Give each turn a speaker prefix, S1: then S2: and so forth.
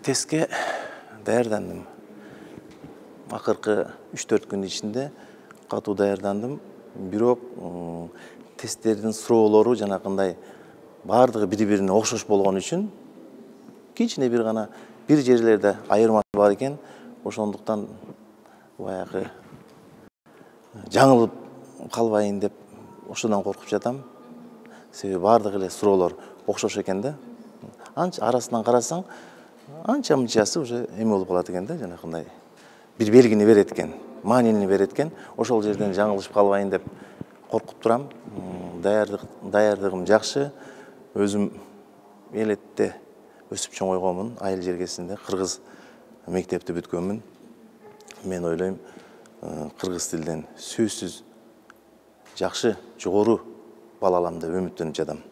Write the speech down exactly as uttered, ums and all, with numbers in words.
S1: Тестке даярдандым. Акыркы үч төрт күн ичинде катуу даярдандым. Бирок тесттердин суроолору жанакындай бардыгы бири-бирине окшош болгон үчүн кичине бир гана бир жерлерде айырмасы бар экен. Ошондуктан баягы жаңылып калбайын деп ошодон коркуп жатам. Себеби бардыгы эле суроолор окшош экен да. Анча арасынан карасаң, анча мынчасы уже эме болуп калат экен да, жанакындай бир белгини берет экен, маанини берет экен. Ошол жерден жаңылышып калбайын деп коркуп турам. Даярдык даярдыгым жакшы. Өзүм элетте өсүп чоңойгонмун, айыл жергесинде кыргыз мектепти бүткөнмүн. Мен ойлойм, кыргыз тилден сөзсүз жакшы, жогору бала алам деп үмүттөнүп жатам.